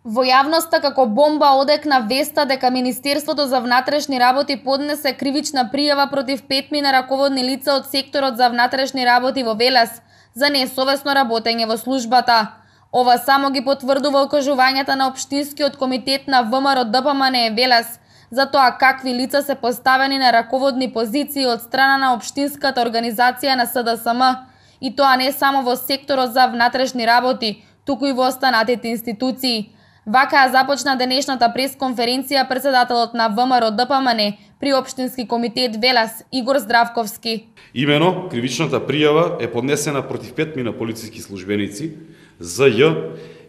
Во јавноста како бомба одекна веста дека Министерството за внатрешни работи поднесе кривична пријава против 5 раководни лица од секторот за внатрешни работи во Велес за несовесно работење во службата. Ова само ги потврдува окажувањата на Општинскиот комитет на ВМРО ДПМН Велес за тоа какви лица се поставени на раководни позиции од страна на Општинската организација на СДСМ, и тоа не само во секторот за внатрешни работи, туку и во останатите институции. Вака започна денешната пресконференција председателот на ВМРО ДПМН при Општински комитет Велес Игор Здравковски. Имено, кривичната пријава е поднесена против 5 полициски службеници ЗЈ,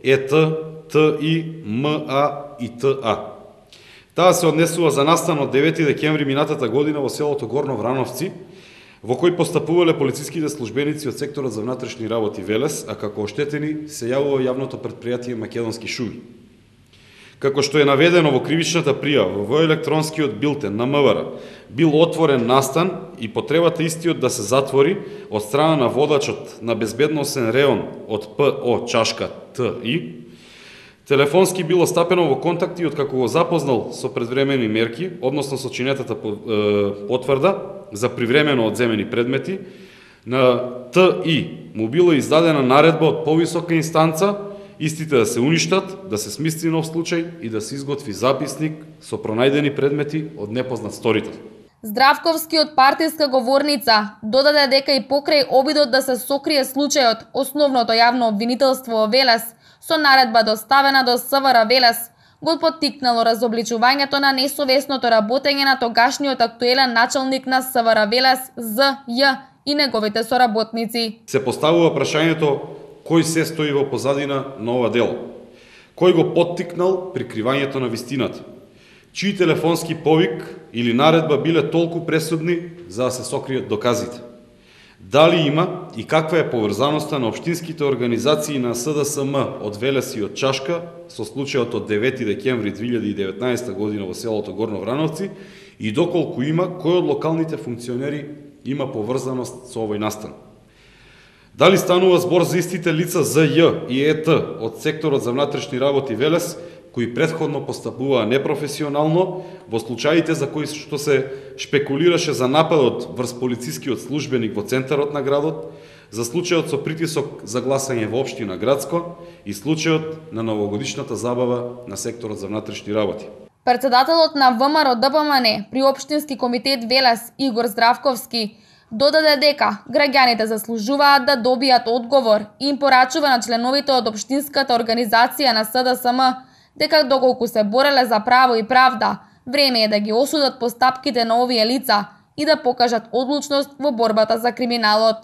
ЕТ, ТИ, МА и ТА. Таа се однесува за настан од 9 декември минатата година во селото Горно Врановци, во кој постапувале полициските службеници од секторот за внатрешни работи Велес, а како оштетени се јавува јавното претпријатие Македонски шуми. Како што е наведено во кривичната пријава, во електронскиот билтен на МВР бил отворен настан и потребата истиот да се затвори од страна на водачот на безбедносен реон од ПО Чашка ТИ, телефонски било стапено во контакти од како го запознал со предвремени мерки, односно со чинетата потврда за привремено одземени предмети, на ТИ му било издадена наредба од повисока инстанца истите да се уништат, да се смисли нов случај и да се изготви записник со пронајдени предмети од непознат сторител. Здравковски од партиска говорница додаде дека и покрај обидот да се сокрие случајот, основното јавно обвинителство во Велес со наредба доставена до СВР Велес го поттикнало разобличувањето на несовесното работење на тогашниот актуелен началник на СВР Велес ЗЈ и неговите соработници. Се поставува прашањето кој се стои во позадина на ова дело? Кој го поттикнал прикривањето на вистината? Чии телефонски повик или наредба биле толку пресудни за да се сокријат доказите? Дали има и каква е поврзаноста на општинските организации на СДСМ од Велес и од Чашка со случајот од 9 декември 2019 година во селото Горно Врановци и доколку има, кој од локалните функционери има поврзаност со овој настан? Дали станува збор за истите лица ЗЈ и ЕТ од секторот за внатрешни работи Велес, кои претходно постапуваа непрофесионално во случаите за кои што се шпекулираше за нападот врз полицискиот службеник во центарот на градот, за случајот со притисок за гласање во општина Градско и случајот на новогодишната забава на секторот за внатрешни работи. Председателот на ВМРО ДПМН при Општински комитет Велес Игор Здравковски додаде дека граѓаните заслужуваат да добијат одговор и им порачува на членовите од Општинската организација на СДСМ дека доколку се бореле за право и правда, време е да ги осудат постапките на овие лица и да покажат одлучност во борбата за криминалот.